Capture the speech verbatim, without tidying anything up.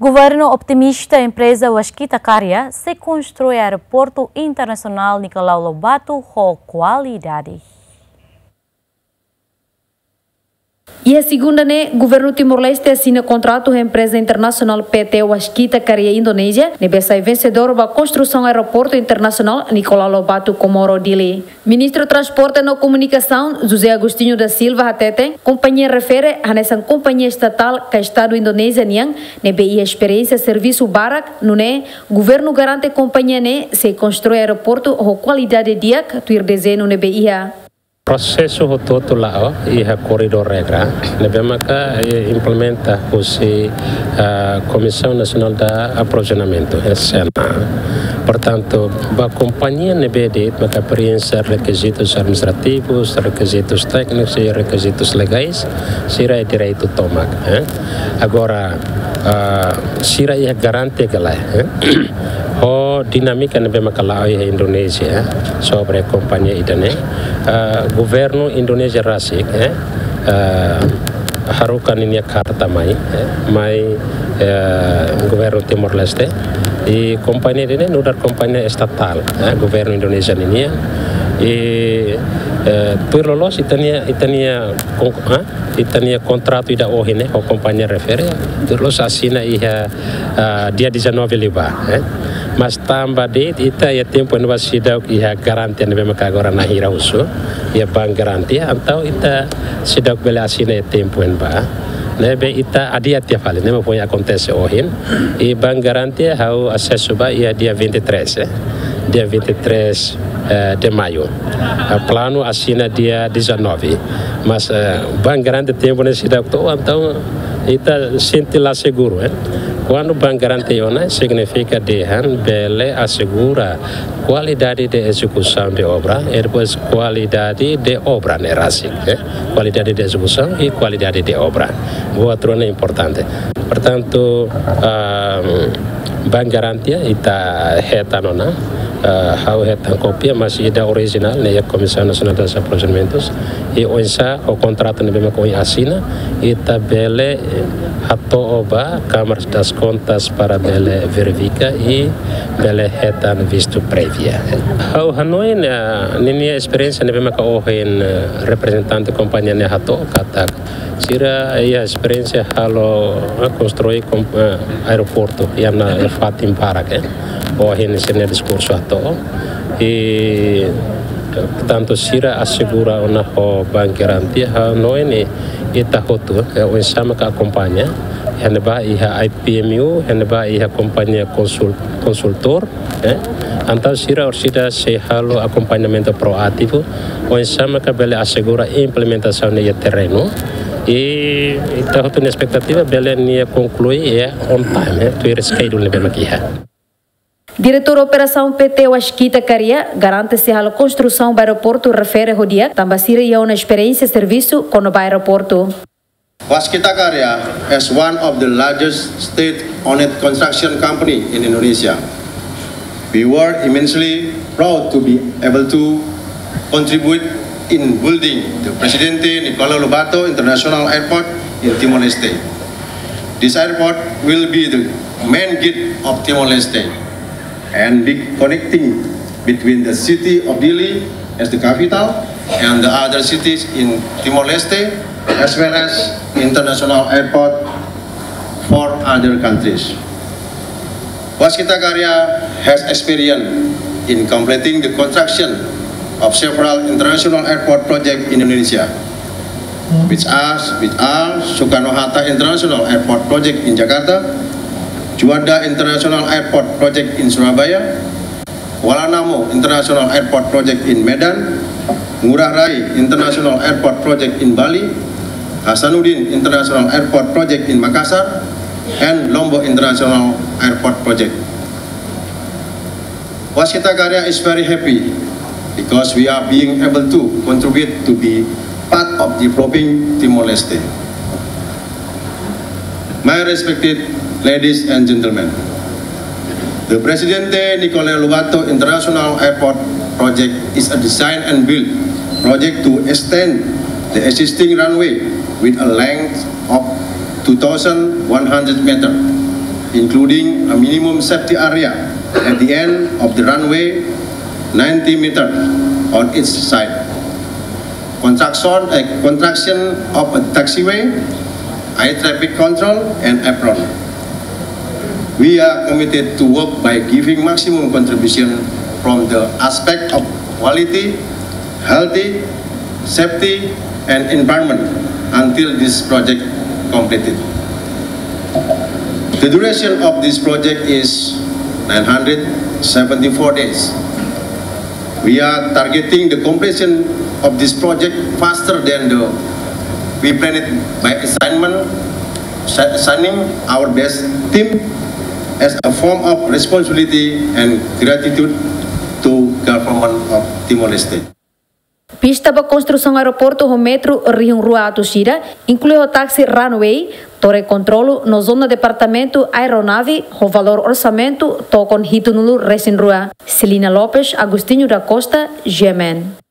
Governu optimista empreza Waskita Karya sei konstrui aeroportu internasionál Nicolau Lobato ho kualidade. Iha segunda ne'e, Governu Timor-Leste asina kontratu ho empreza internasionál P T Waskita Karya Indonézia, ne'ebé sai vensedór ba konstrusaun aeroportu internasionál Nicolau Lobato Comoro Dili. Ministru Transporte no Komunikasaun, José Agostinho da Silva hateten, kompañia refere hanesan kompañia estatál ka Estadu Indonézia nian, ne'ebé iha esperiénsia servisu barak, nune'e governu garante kompañia ne'e sei konstrui aeroportu ho kualidade di'ak tuir dezeñu ne'ebé iha. Prosesu hotu-hotu la'o iha koridór regra ne'ebé maka, eh, implementa husi, ah, Comissão Nacional de Aprovisionamento, S N A. Portantu, ba kompañia ne'ebé de'it maka preenxe rekizitus administrativus, rekizitus téknikus i rekizitus legais, sira iha direitu tomak, eh. Agora, ah, sira iha garantia ka lae, eh, ho dinámika ne'ebé maka la'o iha Indonézia, eh, sobre kompañia ida-ne'e, ah, governu Indonézia rasik, eh, ah, haruka ninia karta mai, eh, mai, eh, governu Timor-Leste. I kompañia ida-ne'e nu'udar kompañia estatál, eh, governu Indonézia ninian. I, eh, tuir loloos ita-nia, ita-nia kon-, eh, ita-nia kontratu ida ohin ne'e ho kompañia refere, tuir loloos asina iha, ah, dia dezanove liubá, eh. Mas tanba de'it ita iha tempu ne'ebá seidauk iha garantia ne'ebé maka agora na'in hira husu, iha Bank Garantia, entaun ita seidauk bele asina iha tempu ne'ebá. Ne'ebé ita adia tiha fali, ne'e mak foin akontese ohin. I Bank Garantia ha'u asesu ba iha dia vinte e três, eh. Dia vinte e três, eh, de maio. Ah, planu asina dia dezanove. Mas, eh, Bank Garantia tempu ne'e seidauk to'o, entaun ita sente la seguru, eh. Kuandu Bank Garantia iha ona, signifika dehan bele asegura kualidade de ezekusaun de obra, i depois kualidade de obra ne'e rasik, eh. Kualidade de ezekusaun i kualidade de obra. Buat rua ne'e importante. Portantu, ah, Bank Garantia ita hetan ona, ah, ha'u hetan kópia, mas ida orijinál ne'e iha Comissão Nacional de Aprovisionamentos. I oinsá ho kontratu ne'ebé maka ohin asina, ita bele hato'o ba Câmara das Contas para bele verifika i bele hetan vistu prévia. Ha'u hanoin, eh, ninia esperiénsia ne'ebé maka ohin, eh, reprezentante kompañia ne'e hato'o katak sira iha esperiénsia halo, eh, konstrui kom-, eh, aeroportu iha ona fatin barak, eh. Ohin sira-nia diskursu hato'o. I, eh, tantu sira asegura ona ho Bank Garantia, ha'u hanoin ita hotu, eh, oinsá maka akompaña, iha ne'ebá iha I P M U, iha ne'ebá iha kompañia konsul-, konsultór, eh. Entaun sira orsida sei halo akompañamentu proativu, oinsá maka bele asegura implementasaun iha terrenu. I ita hotu-nia espetativa bele nia konklui iha on time, eh, tuir schedule ne'ebé maka iha. Diretór Operasaun P T Waskita Karya garante sei halo konstrusaun ba aeroportu refere ho di'ak, tanba sira iha ona esperiénsia servisu kona-ba aeroportu. Waskita Karya is one of the largest state-owned construction company in Indonesia. We were immensely proud to be able to contribute in building the Presidente Nicolau Lobato International Airport in Timor-Leste. This airport will be the main gate of Timor-Leste and be connecting between the city of Dili as the capital and the other cities in Timor-Leste, as well as international airport for other countries. Waskita Karya has experience in completing the construction of several international airport projects in Indonesia, which are, which are Soekarno-Hatta International Airport Project in Jakarta, Juanda International Airport Project in Surabaya, Kuala Namu International Airport Project in Medan, Ngurah Rai International Airport Project in Bali, Hasanuddin International Airport Project in Makassar, and Lombok International Airport Project. Waskita Karya is very happy because we are being able to contribute to be part of developing Timor-Leste. My respected ladies and gentlemen, the Presidente Nicolau Lobato International Airport project is a design and build project to extend the existing runway with a length of two thousand one hundred meter. including a minimum safety area at the end of the runway, ninety meter on each side. Construction, a construction of a taxiway, air traffic control, and apron. We are committed to work by giving maximum contribution from the aspect of quality, healthy, safety, and environment until this project completed. The duration of this project is nine hundred seventy-four days. We are targeting the completion of this project faster than the we planned by assignment, assigning our best team as a form of responsibility and gratitude to government of Timor-Leste. Pista ba konstrusaun aeroportu ho metru rihun rua atus ida, inklui ho taxi runway, tore kontrolu no zona departamentu aeronave ho valór orsamentu tokon hitunulu resin rua. Celina Lopes, Agostinho da Costa, G M N.